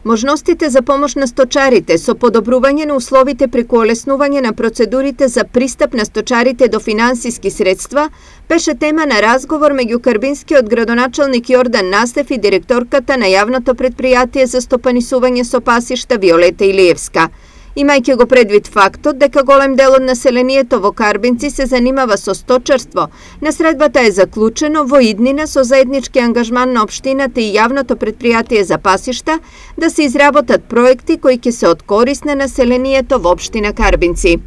Можностите за помош на сточарите со подобрување на условите преку олеснување на процедурите за пристап на сточарите до финансиски средства беше тема на разговор меѓу карбинскиот градоначалник Јордан Настев и директорката на јавното претпријатие за стопанисување со пасишта Виолета Илиевска. Имајќи го предвид фактот дека голем дел од населението во Карбинци се занимава со сточарство, на средбата е заклучено во иднина со заеднички ангажман на општината и јавното претпријатие за пасишта да се изработат проекти кои ќе се од корист на населението во општина Карбинци.